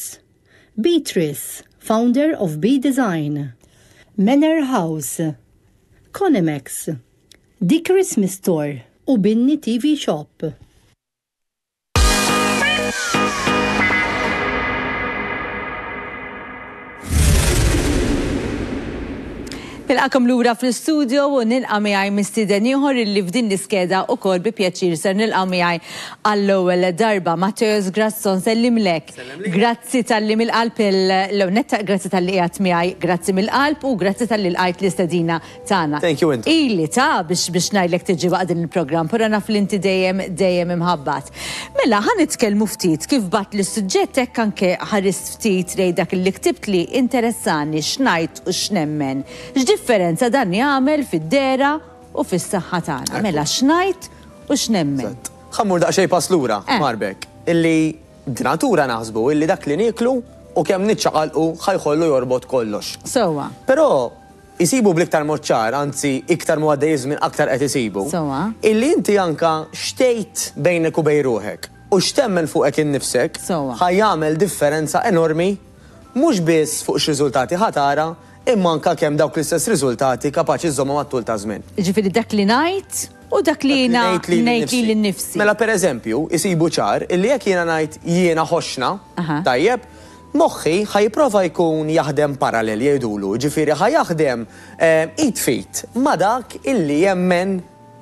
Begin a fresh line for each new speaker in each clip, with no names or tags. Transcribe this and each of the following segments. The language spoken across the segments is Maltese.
Stores, Beatrice, founder of B Design, Manor House, Conimex, The Christmas Store u Binni TV Shop.
Nilqakom lura fl-istudio u nilqa' miegħi mistieden ieħor illi f'din l-iskeda ukoll bi pjaċir ser nilqa' miegħi għall-ewwel darba. Matteus Grasso nsellimlek. Grazzi talli mill-qalb il-netta, grazzi talli qiegħed miegħi, grazzi mill-qalb u grazzi talli lqajt l-istedina tagħna.
Thank you intom.
Ili ta' biex biex ngħidlek tiġi waqt din il-programm, però naf li inti dejjem dejjem imħabbat. Mela ħa nitkellmu ftit kif bgħatt lis-suġġett hekk anke ħarist ftit lejn dak li ktibtli interessani x'ngħid u x'nemmen. X'differenza dan jagħmel fid-dehra u fis-saħħa tagħna. Mela x'ngħid u x'nemmen.
Eżatt. Ħa mmur daqsxejn pass lura, Marbek, illi b'natura naħsbu illi dak li nieklu u kemm niċċaqalqu ħa jħollu jorbot kollox.
Sewwa.
Però Isibu bl-iktar mod ċar, anzi iktar mhu għaddej iż-żmien aktar qed isibu, illi inti anka x'tgħid bejnek u bejn ruħek u x'temmen fuqek innifsek ħa jagħmel differenza enormi mhux biss fuq x'riżultati ħa tara imma anka kemm dawk l-istess riżultati kapaċi żżommhom għat-tul taż-żmien.
Jiġifieri dak li ngħid u dak li jiena ngħid lili nnifsi.
Mela pereżempju, isibu ċar illi jekk jiena ngħid jiena ħoxna, tajjeb, Moħħi ħa jipprova jkun jaħdem parallel jgħidulu, jiġifieri ħa jaħdem id f'id ma' dak illi jemmen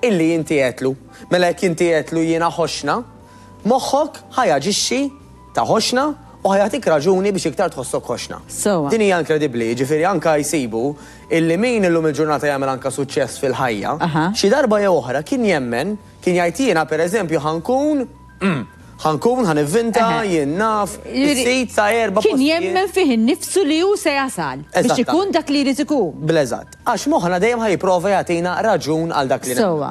illi inti għedtlu. Mela jekk inti għedtlu jiena ħoxna, moħħok ħa jaġixxi ta' ħoxna u ħa jagħtik raġuni biex iktar tħossok ħoxna.
Sewwa.
Din hija inkredibbli, jiġifieri anke jsibu illi min illum il-ġurnata jagħmel anke suċċess fil-ħajja, xi darba jew oħra kien jemmen, kien jgħid jiena pereżempju ħa nkun Ħa nkun, ħa nivvinta, jien naf, is-sid ta' erba'
Kien jemmen fih innifsu li hu se jasal biex ikun dak li jrid ikun.
Bl-eżatt. Għax moħħna dejjem ħa jipprova jagħtina raġun għal dak li nagħmlu.
Sewwa.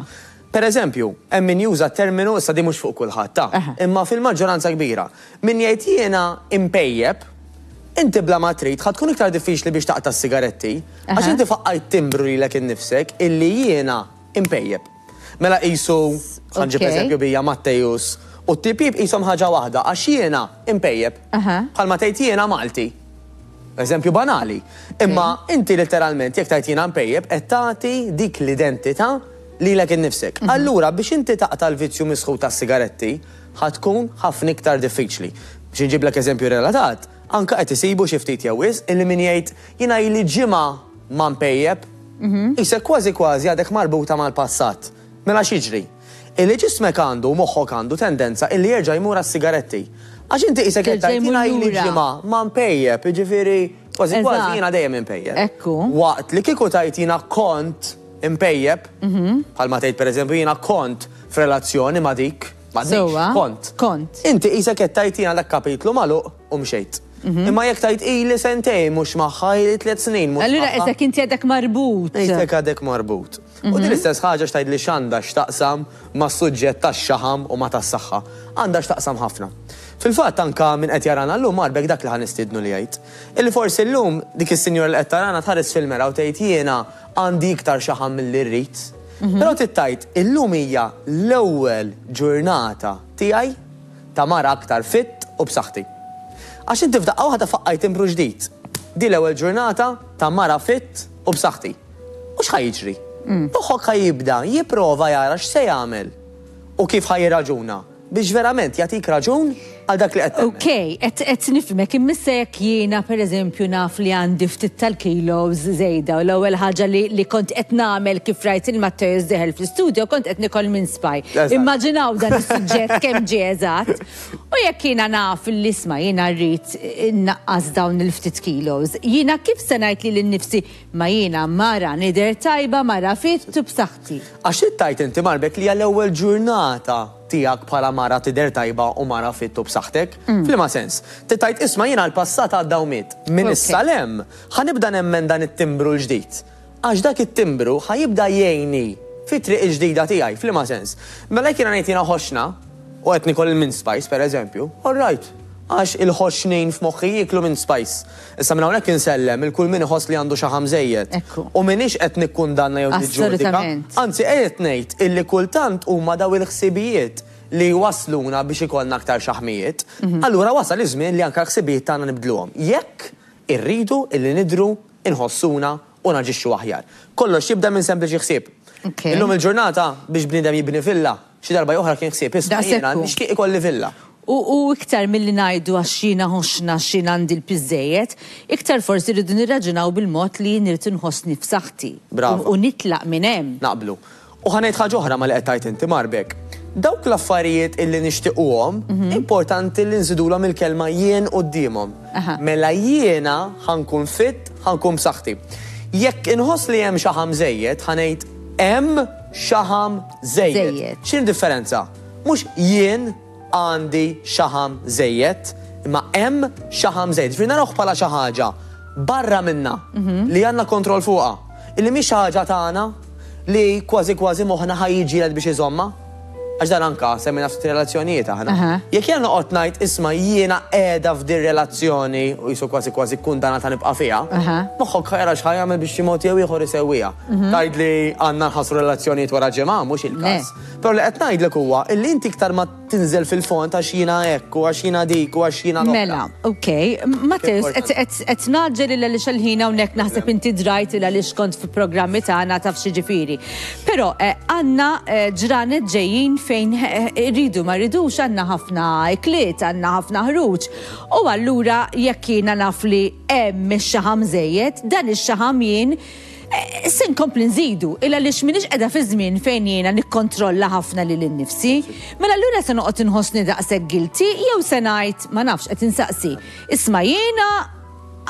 Per eżempju, hemm min juża t-terminu, issa din mhux fuq kulħadd, ta, imma fil-maġġoranza kbira, min jgħid jiena impejjep, inti bla ma trid ħa tkun iktar diffiċli biex taqta' s-sigaretti, għax inti faqqajt timbru lilek innifsek illi jiena impejjep. Mela qisu, ħa nġib eżempju bija Matteus u t-tipjip qishom ħaġa waħda għax jiena impejjep. Bħalma tgħid jiena Malti. Eżempju banali. Imma inti letteralment jekk tgħid jiena mpejjep qed tagħti dik l-identità lilek innifsek. Allura biex inti taqta' l-vizzju misħut tas-sigaretti ħa tkun ħafna iktar diffiċli. Biex inġiblek eżempju relatat, anke qed isibu xi ftit jew wisq illi min jgħid jiena ili ġimgħa ma mpejjep, Qisek kważi kważi għadek marbuta mal-passat. Mela x'jiġri? Illi ġismek għandu u moħħok għandu tendenza illi jerġa' jmur għas-sigaretti. Għax inti qisek qed tgħid jiena ili ġimgħa ma npejjep, jiġifieri kważi kważi jiena dejjem inpejjep. Waqt li kieku tgħid jiena kont inpejjep, bħalma tgħid pereżempju jiena kont f'relazzjoni ma' dik, m'għadnix, kont. Inti qisek qed tgħid jiena dak kapitlu magħluq u mxejt. Imma jekk tgħid ili sentejn mhux magħha, ili tliet snin mhux magħha.
Allura qisek inti għadek marbut.
Qisek għadek marbut. U din l-istess ħaġa x'tgħidli x'għandha x'taqsam mas-suġġett tax-xaħam u ma' tas-saħħa. Għandha x'taqsam ħafna. Fil-fatt anke min qed jarana llum Marbek dak li ħa nistiednu li jgħid. Illi forsi llum dik is-sinjura li qed tarana tħares fil-mera u tgħid jiena għandi iktar xaħam milli rrid. Però trid tgħid illum hija l-ewwel ġurnata tiegħi ta' mara aktar fit u b'saħħti. Għax inti f'daqqa waħda faqqajt timbru ġdid. Din l-ewwel ġurnata ta' mara fit u b'saħħti. U x'ħa jiġri? Moħħok ħa jibda jipprova jara x'se jagħmel u kif ħa jirraġuna biex verament jagħtik raġun għal dak li qed tagħmel.
Ok, qed qed nifhmek, imma issa jekk jiena pereżempju naf li għandi ftit tal-kilos żejda u l-ewwel ħaġa li li kont qed nagħmel kif rajt il Matteus dieħel fl-istudio kont qed nikol mince pie. Immaġinaw dan is-suġġett kemm ġie eżatt. U jekk jiena naf li isma' jiena rrid innaqqas dawn il-ftit kilos, jiena kif se ngħid lili nnifsi ma jiena mara nidher tajba, mara fit u b'saħħti?
Għax trid tgħid inti Marbek li hija l-ewwel ġurnata tiegħek bħala mara tidher tajba u mara fit u b'saħħtek? F'liema sens? Trid tgħid isma' jiena l-passat għadda u miet. Minn issa 'l hemm ħa nibda nemmen dan it-timbru l-ġdid. Għax dak it-timbru ħa jibda jgħinni fit-triq il-ġdida tiegħi. F'liema sens? Mela jekk jiena ngħid jiena ħoxna u qed niekol il-mince pies pereżempju, all right. Għax il-ħoxnin f'moħħi jieklu mince pies. Issa minn hawnhekk insellem 'il kull min iħoss li għandu xaħam żejjed. U m'iniex qed nikkundanna jew niġġudika. Anzi qiegħed ngħid illi kultant huma dawn il-ħsibijiet. li jwassluna biex ikollna aktar xaħmijiet. Allura wasal iż-żmien li anke l-ħsibijiet tagħna nibdluhom. Jekk irridu illi nidhru, inħossuna u naġixxu aħjar. Kollox jibda minn sempliċi ħsieb. Illum il-ġurnata biex bniedem jibni villa, xi darba jew oħra kien ħsieb, isma' jiena nixtieq ikolli villa.
U iktar milli ngħidu għax jiena ħoxna għax jien għandi l-piż żejjed, iktar forsi rridu nirraġunaw bil-mod li jien irrid inħossni f'saħħti.
Brava.
U nitlaq minn hemm.
Naqblu. U ħa ngħid ħaġa oħra ma' li qed tgħid inti, Marbek. Dawk l-affarijiet illi nixtiquhom, importanti li nżidulhom il-kelma jien quddiemhom. Mela jiena ħa nkun fit, ħa nkun b'saħħti. Jekk inħoss li hemm xaħam żejjed, ħa ngħid hemm xaħam żejjed. X'inhi d-differenza? Mhux jien għandi xaħam żejjed, imma hemm xaħam żejjed. Ġifieri narawh bħala xi ħaġa barra minna li għandna kontroll fuqha. Illi mhix xi ħaġa tagħna li kważi kważi moħħna ħa jiġġieled biex iżommha. Għax dan anka semmejna ftit relazzjonijiet aħna. Jekk jiena noqgħod ngħid isma' jiena qiegħda f'dir-relazzjoni u qisu kważi kważi kkundanata nibqa' fiha, moħħok ħa jara x'ħa jagħmel biex xi mod jew ieħor isewwiha. Tgħidli għandna nħassru relazzjonijiet wara ġimgħa, mhux il-każ. Però li qed ngħidlek huwa illi inti iktar ma tinżel fil-fond għax jiena hekk u għax jiena dik u għax jiena l-oħra.
Mela, ok. Matteus, qed ngħaġġel il għaliex għall-ħin hawnhekk naħseb inti drajt il għaliex kont fi programmi tagħna taf x'jiġifieri. Però għandna ġranet ġejjin fejn irridu ma rridux għandna ħafna ikliet, għandna ħafna ħruġ. U allura jekk jiena naf li hemm ix-xaħam żejjed, dan ix-xaħam jien Se nkompli nżidu, il għaliex m'iniex qiegħda fi żmien fejn jiena nikkontrolla ħafna lili nnifsi. Mela allura se noqgħod inħossni daqshekk guilty jew se ngħid, ma nafx, qed insaqsi, isma' jiena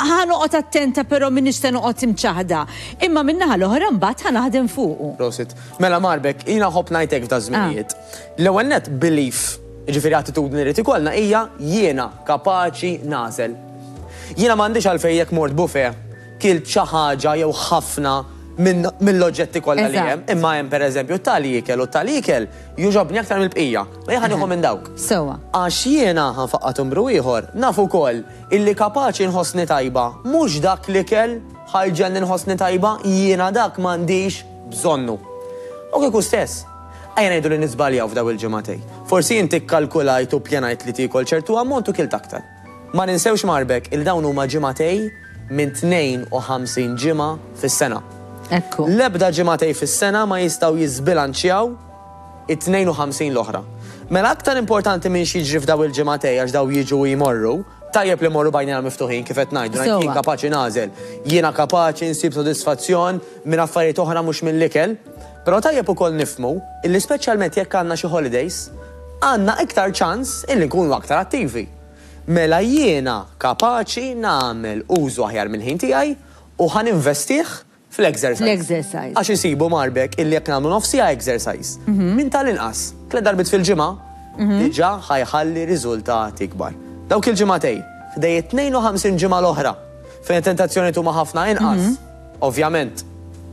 ħa noqgħod attenta però m'iniex se noqgħod imċaħħda, imma min-naħa l-oħra mbagħad ħa naħdem fuqu.
Prosit. Mela Marbek, jiena nħobb ngħid hekk f'daż-żminijiet. L-ewwel nett belief, jiġifieri attitudni li rrid ikollna hija jiena kapaċi nagħżel. Jiena m'għandix għalfejn jekk mort buffet kilt xi ħaġa jew ħafna minn mill-oġġetti kollha li hemm, imma hemm pereżempju tali ikel u tali ikel jogħġobni aktar mill-bqija. Ma jien ħa nieħu minn dawk.
Sewwa.
Għax jiena, ħa nfaqqa' timbru ieħor, naf ukoll illi kapaċi nħossni tajba mhux dak l-ikel ħa jġegħelni nħossni tajba, jiena dak m'għandix bżonnu. U kieku stess. Ejja ngħidu li niżbaljaw f'dawn il-ġimagħtejn. Forsi inti kkalkulajt u ppjanajt li tiekol ċertu ammont u kilt aktar. Ma ninsewx Marbek il dawn huma ġimagħtej minn 52 ġimgħa fis-sena.
Ekku.
L-ebda ġimagħtej fis-sena ma jistgħu jiżbilanċjaw it-52 l-oħra. Mela aktar importanti minn x'jiġri f'daw il-ġimagħtej għax daw jiġu u jmorru, tajjeb li mmorru b'għajnejna miftuħin kif qed ngħidu, ngħid jien kapaċi nagħżel, jiena kapaċi nsib sodisfazzjon minn affarijiet oħra mhux mill-ikel, però tajjeb ukoll nifhmu illi speċjalment jekk għandna xi holidays, għandna iktar ċans illi nkunu aktar attivi. Mela jiena kapaċi nagħmel użu aħjar mill-ħin tiegħi u ħa ninvestih fl-exercise.
Fl-exercise.
Għax isibu marbek illi jekk nagħmlu nofs siegħa exercise, minn tal-inqas tliet darbiet fil-ġimgħa, diġà ħa jħalli riżultati kbar. Dawk il-ġimagħtejn, ħdej it-52 ġimgħa l-oħra, fejn it-tentazzjonijiet huma ħafna inqas, Ovvjament.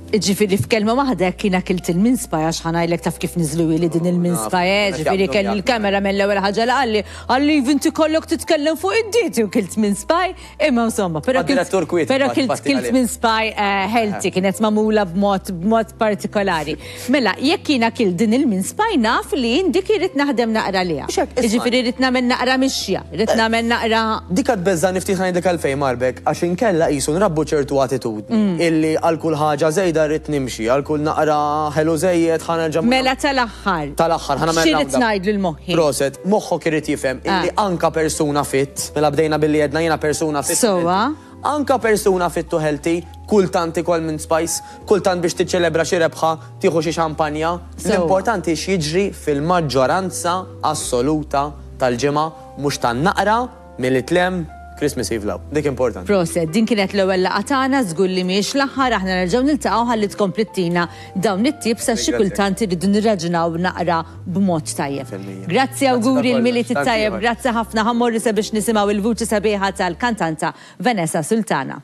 Jiġifieri f'kelma waħda jekk jiena kilt il-mince pie għax ħa ngħidlek taf kif niżluhieli din il-mince pie eh, ġifieri kelli l-cameraman l-ewwel ħaġa li qalli, qalli iva inti kollok titkellem fuq id-dieti u kilt mince pie, imma insomma, però kilt però kilt kilt mince pie eh, healthy kienet magħmula b'mod b'mod partikolari. Mela, jekk jiena kilt din il-mince pie naf li jien dik irrid naħdem naqra għaliha. Jiġifieri rrid nagħmel naqra mixja, rrid nagħmel naqra.
Dik għad tbeżżagħni ftit ħa ngħidlek għalfejn Marbek, għax inkella qisu nrabbu ċertu attitudni illi għal kull ħaġa żejda rrid nimxi, għal kull naqra ħelu żejjed ħa nerġa'
Mela tal-aħħar.
Tal-aħħar ħa nagħmel
X'irid ngħid lil moħħi?
Proset, moħħok irid jifhem illi anka persuna fit, mela bdejna billi għedna jiena persuna fit.
Sewwa.
Anka persuna fit u healthy, kultant ikol mint spice, kultant biex tiċċelebra xi rebħa tieħu xi xampanja. L-importanti x'jiġri fil-maġġoranza assoluta tal-ġimgħa mhux tan-naqra milli tlemm Christmas Eve 'l hawn. Dik importanti.
Proset, din kienet l-ewwel laqgħa tagħna, żgur li mhijiex l-aħħar, aħna nerġgħu niltaqgħu ħalli tkompli ttina dawn it-tips għax xi kultant irridu nirraġunaw naqra b'mod tajjeb. Grazzi awguri l-Milied it-tajjeb, grazzi ħafna, ħa mmorru sabiex nisimgħu il-vuċi sabiħa tal-kantanta Vanessa Sultana.